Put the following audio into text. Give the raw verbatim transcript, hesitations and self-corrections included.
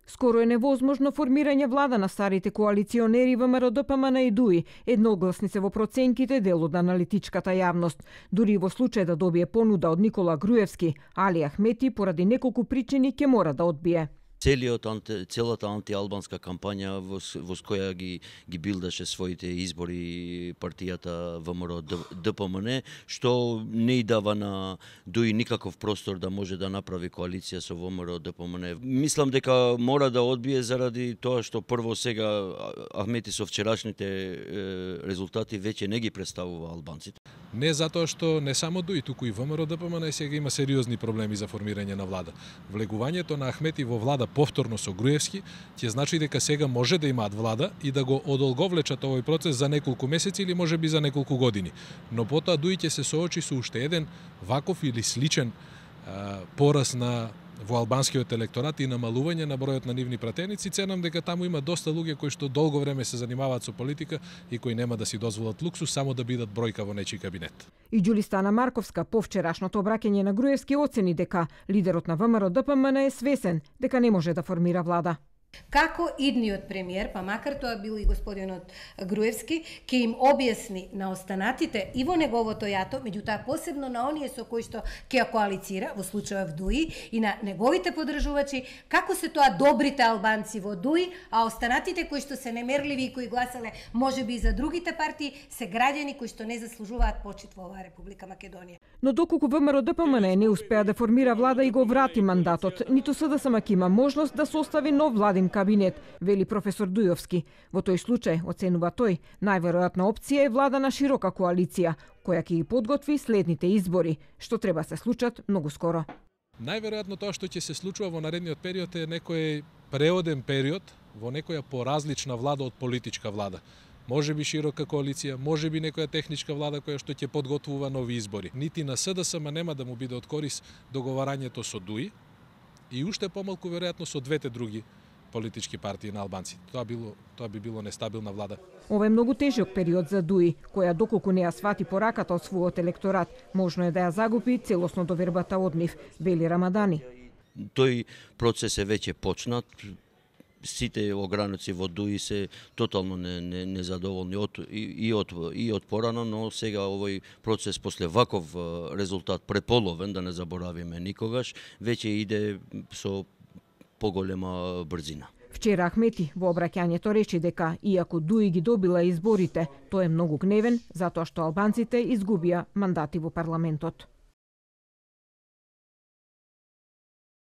Скоро е невозможно формирање влада на старите коалиционери ВМРО Д П М Н и ДУИ, едногласни се во проценките дел од аналитичката јавност. Дури во случај да добие понуда од Никола Груевски, Али Ахмети поради неколку причини ќе мора да одбие. Целиот, целата антиалбанска кампања во, во која ги, ги билдаше своите избори партијата ВМРО Д П М Н, што не и дава на ДУИ никаков простор да може да направи коалиција со ВМРО Д П М Н. Мислам дека мора да одбие заради тоа што прво сега Ахмети со вчерашните резултати веќе не ги представува албанците. Не затоа што не само ДУИ, туку и ВМРО Д П М Н сега има сериозни проблеми за формирање на влада. Влегувањето на Ахмети во влада повторно со Груевски ќе значи дека сега може да имаат влада и да го одолговлечат овој процес за неколку месеци или можеби за неколку години. Но потоа ДУИ ќе се соочи со уште еден ваков или сличен а, пораз на во албанскиот електорат и намалување на бројот на нивни пратеници. Ценам дека таму има доста луѓе кои што долго време се занимаваат со политика и кои нема да си дозволат луксус само да бидат бројка во нечи кабинет. И Ѓулистана Марковска по вчерашното обраќање на Груевски оцени дека лидерот на ВМРО Д П М Н е свесен дека не може да формира влада. Како идниот премиер, па макар тоа бил и господинот Груевски, ќе им објасни на останатите и во неговото јато, меѓутоа посебно на оние со кои што ќе коалицира, во случајот ДУИ, и на неговите поддржувачи, како се тоа добрите албанци во ДУИ, а останатите кои што се немерливи и кои гласале можеби и за другите партии, се граѓани кои што не заслужуваат почит во оваа Република Македонија. Но доколку ВМРО Д П М Н не успеа да формира влада и го врати мандатот, ниту С Д С М ќе има можност да состави нов владин кабинет, вели професор Дујовски. Во тој случај, оценува тој, најверојатна опција е влада на широка коалиција, која ќе ги подготви следните избори, што треба се случат многу скоро. Најверојатно тоа што ќе се случува во наредниот период е некој преоден период во некоја поразлична влада од политичка влада. Може би широка коалиција, може би некоја техничка влада која што ќе подготвува нови избори. Нити на С Д С М нема да му биде од корис договарањето со ДУИ и уште помалку веројатно со двете други политички партии на албанци. Тоа било тоа би било нестабилна влада. Ова е многу тежок период за ДУИ, која доколку не ја свати пораката од својот електорат, можно е да ја загуби целосно довербата од нив, вели Рамадани. Тој процес е веќе почнат. Сите ограници во ДУИ се тотално не, не, незадоволни од, и, и, од, и од порано, но сега овој процес после ваков резултат преполовен, да не заборавиме никогаш, веќе иде со поголема брзина. Вчера Ахмети во обраќањето рече дека иако ДУИ ги добила изборите, тој е многу гневен затоа што албанците изгубија мандати во парламентот.